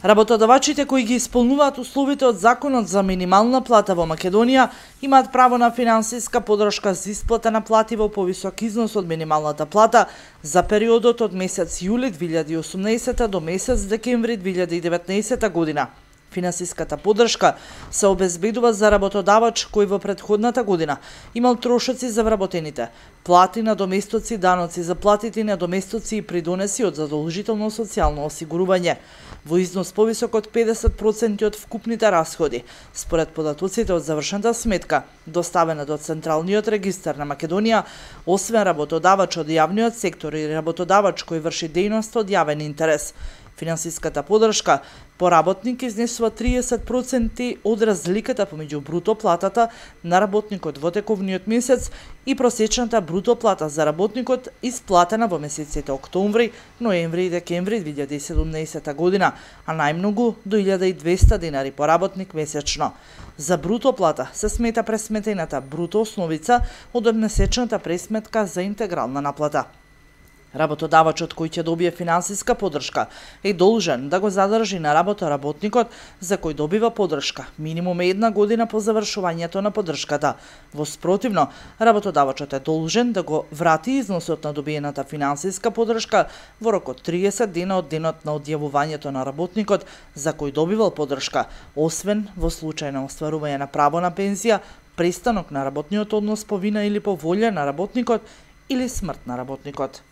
Работодавачите кои ги исполнуваат условите од Законот за минимална плата во Македонија имаат право на финансиска поддршка за исплата на плати во повисок износ од минималната плата за периодот од месец јули 2018 до месец декември 2019 година. Финансиската поддршка се обезбедува за работодавач кој во претходната година имал трошоци за вработените, плати, надоместоци, даноци за платите, надоместоци и придонеси од задолжително социјално осигурување во износ повисок од 50% од вкупните расходи, според податоците од завршената сметка, доставена до Централниот регистар на Македонија, освен работодавач од јавниот сектор и работодавач кој врши дејност од јавен интерес. Финансиската поддршка по работник изнесува 30% од разликата помеѓу бруто платата на работникот во тековниот месец и просечната бруто плата за работникот исплатена во месеците октомври, ноември и декември 2017 година, а најмногу до 1200 денари по работник месечно. За бруто плата се смета пресметената бруто основица од месечната пресметка за интегрална наплата. Работодавачот кој ќе добие финансиска поддршка е должен да го задржи на работа работникот за кој добива поддршка минимум 1 година по завршувањето на поддршката. Во спротивно, работодавачот е должен да го врати износот на добиената финансиска поддршка во рок од 30 дена од денот на одјавувањето на работникот за кој добивал поддршка, освен во случај на остварување на право на пензија, престанок на работниот однос по вина или по волја на работникот или смрт на работникот.